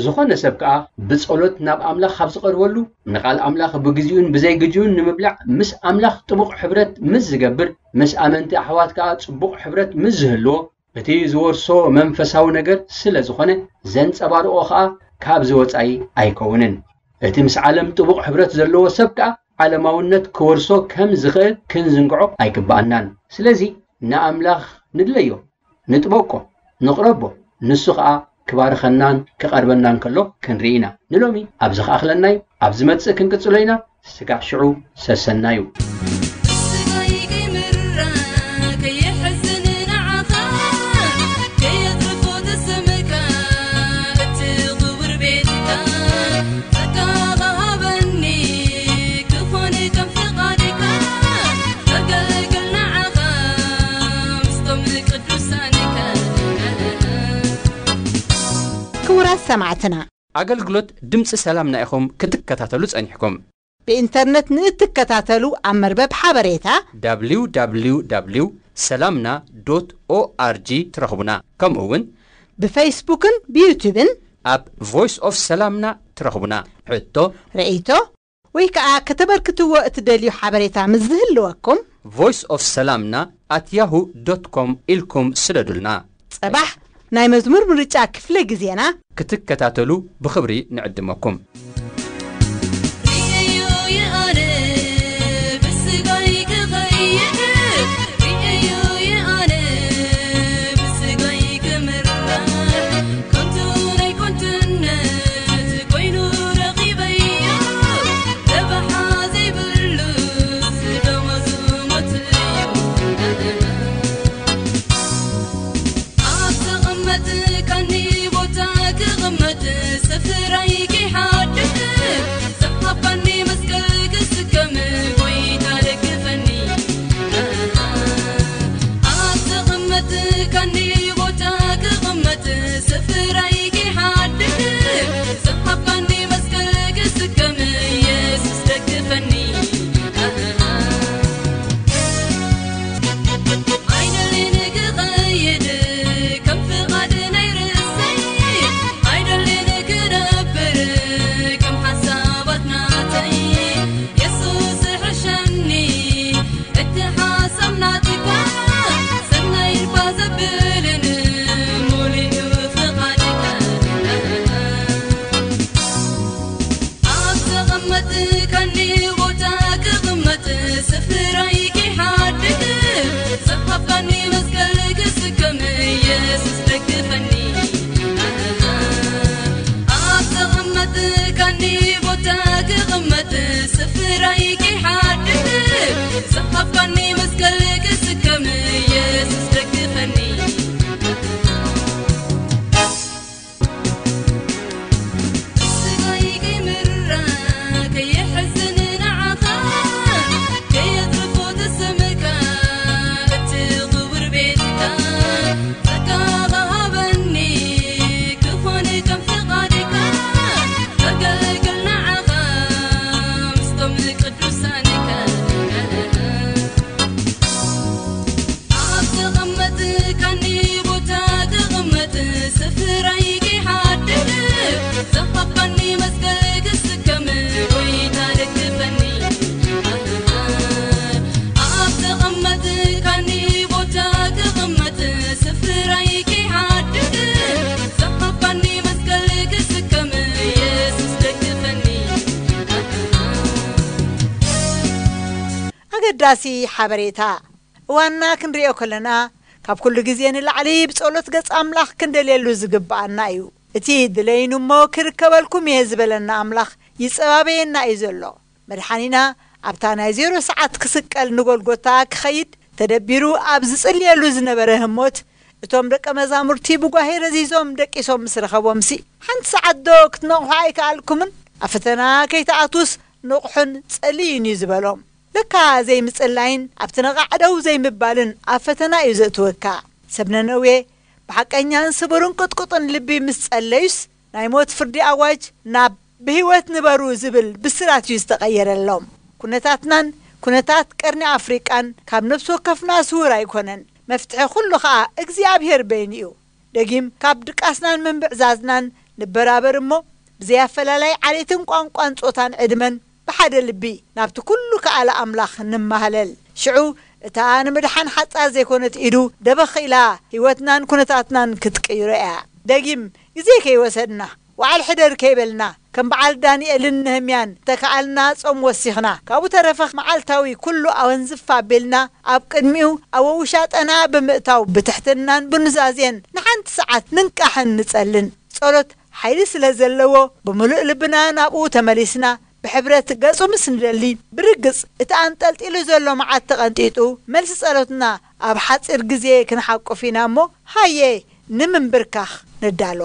ዝኾነ ሰብ ከኣ ብጸሎት ናብ ኣምላኽ ካብ ዝቐርበሉ፣ ንቓል ኣምላኽ ብግዜኡን ብዘይግዜኡን ንምብላዕ ምስ ኣምላኽ ጥቡቕ ሕብረት ምስ ዝገብር፣ ምስ ኣመንቲ ኣሕዋት ከኣ ጽቡቕ ሕብረት ምስ ዝህልዎ፣ እቲ ዝወርሶ መንፈሳዊ ነገር ስለ ዝኾነ፣ ዘንጸባርቖ ከኣ ካብዚ ወጻኢ ኣይከውንን። እቲ ምስ ዓለም ጥቡቕ ሕብረት ዘለዎ ሰብ ከኣ ዓለማውነት ክወርሶ ከም ዝኽእል ክንዝንግዖ ኣይግብኣናን። ስለዚ ንኣምላኽ ንድለዮ። ንጥበቆ፣ ንቕረቦ፣ ንሱ ኸኣ ክባርኸናን ክቐርበናን ከሎ ክንርኢ ኢና። ንሎሚ ኣብዚ ኸኣኽለና እዩ። ኣብ ዝመጽእ ክንቅጽሎ ኢና። ስጋዕ ሽዑ ሰሰናዩ። ስጋይ ከይምራ ከየሕዝን ንዓኻ ከየትርፎ ተሰምካ እቲ ክቡር ቤትካ ጸጋኻ ሃበኒ ክኾን ከም ፍቓድካ ኣገልግል ንዓኻ ምስቶም ቅዱሳንካ። ክቡራት ሰማዕትና፣ ኣገልግሎት ድምፂ ሰላምና ኢኹም ክትከታተሉ ጸኒሕኩም። ብኢንተርነት ንእትከታተሉ ኣብ መርበብ ሓበሬታ www ሰላምና ዶት ኦኣርጂ ትረኽቡና። ከምኡ እውን ብፌስቡክን ብዩቱብን ኣብ ቮይስ ኦፍ ሰላምና ትረኽቡና። ሕቶ፣ ርእይቶ ወይ ከዓ ከተበርክትዎ እትደልዩ ሓበሬታ ምስ ዝህልወኩም ቮይስ ኦፍ ሰላምና ኣት ያሁ ዶት ኮም ኢልኩም ስደዱልና። ጸባሕ ናይ መዝሙር ምርጫ ክፍለ ግዜና ክትከታተሉ ብኽብሪ ንዕድመኩም። ርእዮ የኣነ ብስጋይ ክኸይድ፣ ርእዮ የኣነ ብስጋይ ክምራሕ፣ ከንቱ ናይ ከንቱነት ኮይኑ ረኺበዮ፣ ረብሓ ዘይብሉ ደሞዙ ሞት እዩ። ኣብ ተቐመጥካኒ ቦታ ክቕመጥ፣ ስፍራይ ከይሓድስ፣ ውሳኔካ ኣብ ተቐመጥካኒ ቦታ ክቕመጥ ስፍራይ ክሓድር ዝሃባኒ መስቀል ክስከም ጎይታ ደግፈኒ ኣብ ተቐመጥካኒ ቦታ ክቕመጥ ስፍራይ ክሓድግ ዝሃባኒ መስቀል ክስከም የሱስ ደግፈኒ ኣገዳሲ ሓበሬታ እዋንና ክንሪኦ ከለና ካብ ኩሉ ግዜ ንላዕሊ ብጸሎት ገጽ ኣምላኽ ክንደልየሉ ዝግብኣና እዩ። እቲ ድለይኑ እሞ ክርከበልኩም እየ ዝበለና ኣምላኽ ይጸባበየና እዩ ዘሎ። መድሓኒና ኣብታ ናይ ዜሮ ሰዓት ክስቀል ንጎልጎታ ክኸይድ ተደቢሩ ኣብ ዝጽልየሉ ዝነበረ ህሞት እቶም ደቀ መዛሙርቲ ብጓሄ ረዚዞም ደቂሶም ምስ ረኸቦምሲ ሓንቲ ሰዓት ዶ ክትነቕሑ ኣይከኣልኩምን? ኣብ ፈተና ከይትኣትዉስ ንቕሑን ጸልዩን እዩ ዝበሎም። ለካ ዘይምጽላይን ኣብቲ ነቓዕ ደው ዘይምባልን ኣብ ፈተና እዩ ዘእትወካ። ሰብ ነነዌ ብሓቀኛን ስቡርን ቅጥቁጥን ልቢ ምስ ጸለዩስ ናይ ሞት ፍርዲ ኣዋጅ ናብ ብህይወት ንበሩ ዝብል ብስራት እዩ ዝተቐየረሎም። ኩነታትናን ኩነታት ቀርኒ ኣፍሪቃን ካብ ነፍሲ ወከፍና ስውር ኣይኮነን። መፍትሒ ኩሉ ኸኣ እግዚኣብሔር በይኑ እዩ። ደጊም ካብ ድቃስናን ምንብዕዛዝናን ንበራበር እሞ ብዘይ ኣፈላላይ ዓሌትን ቋንቋን ጾታን ዕድመን ብሓደ ልቢ ናብቲ ኩሉ ከኣለ ኣምላኽ ንማህለል። ሽዑ እታ ንምድሓን ሓጻር ዘይኮነት ኢዱ ደበኽ ኢላ ህይወትናን ኩነታትናን ክትቅይሮ እያ። ደጊም ግዜ ከይወሰድና ዋዕል ሕደር ከይበልና ከም በዓል ዳንኤልን ነህምያን ተከኣልና ጾም ወሲኽና ካብኡ ተረፈ መዓልታዊ ኩሉ ኣወንዝፍ ኣቢልና ኣብ ቅድሚኡ ኣብ ውሻጠና ብምእታው ብትሕትናን ብኑዛዜን ንሓንቲ ሰዓት ንንቃሕን ንጸልን። ጸሎት ሓይሊ ስለ ዘለዎ ብምሉእ ልብና ናብኡ ተመሊስና ብሕብረት ገጹ ምስ ንደሊ ብርግጽ እቲ ኣንጠልጢሉ ዘሎ መዓት ተቐንጢጡ መልሲ ጸሎትና ኣብ ሓጺር ግዜ ክንሓቁፍ ኢና እሞ ሃየ ንምንብርካኽ ንዳሎ።